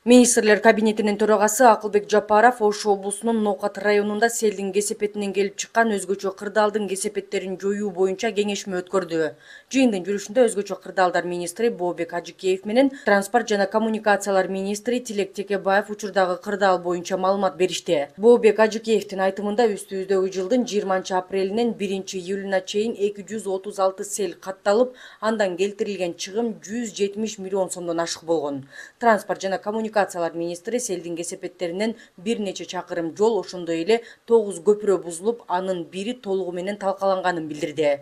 Министрлер кабинетинин төрагасы Акылбек Жапаров Ош облусунун Ноокат районунда селдин кесепетинен келип чыккан өзгөчө кырдаалдын кесепеттерин жоюу боюнча кеңешме өткөрдү. Жыйындын жүрүшүндө өзгөчө кырдаалдар министри Бообек Ажыкеев менен транспорт жана коммуникациялар министри Тилек Текебаев учурдагы кырдаал боюнча маалымат беришти. Бообек Ажыкеевдин айтымында үстүбүздөгү жылдын 20-апрелинен 1-июлуна чейин 236 сел катталып, андан келтирилген чыгым 170 миллион сомдон ашык болгон. Транспорт жана коммуникациялар министри селдин кесепеттеринен бир нече чакырым жол, ошондой эле 9 көпүрө бузулуп, анын бири толугу менен талкаланганын билдирди.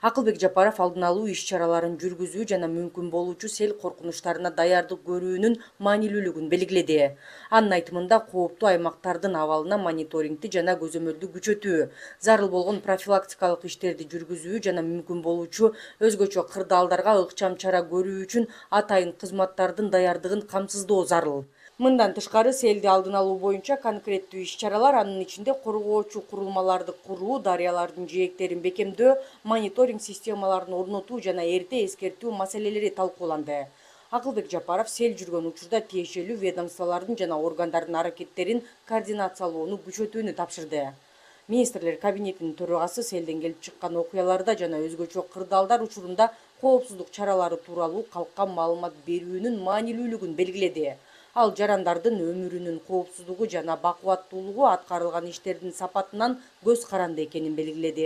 Акылбек Жапаров алдын алуу иш-чараларын жүргүзүү жана мүмкүн болуучу сел коркунучтарына даярдык көрүүнүн маанилүүлүгүн белгиледи. Анын айтымында кооптуу аймактардын абалына мониторингди жана көзөмөлдү күчөтүү, зарыл болгон профилактикалык иштерди жүргүзүү жана мүмкүн болуучу өзгөчө кырдаалдарга ыкчам чара көрүү үчүн атайын кызматтардын даярдыгын камсыздоо зарыл. Мындан тышкары селди алдын алуу боюнча конкреттүү иш-чаралар, анын ичинде коргоочу курулмаларды куруу, дарыялардын жээктерин бекемдөө, мониторинг системаларын орнотуу жана эрте эскертүү маселелери талкууланды. Акылбек Жапаров сел жүргөн учурда тиешелүү ведомстволордун жана органдардын аракеттерин координациялоону күчөтүүнү тапшырды. Министрлер кабинетинин төрагасы селден келип чыккан окуяларда жана өзгөчө кырдаалдар учурунда коопсуздук чаралары тууралуу калкка маалымат берүүнүн маанилүүлүгүн белгиледи. Ал жарандардын өмүрүнүн коопсуздугу жана бакубаттуулугу аткарылган иштердин сапатынан көз каранды экенин белгиледи.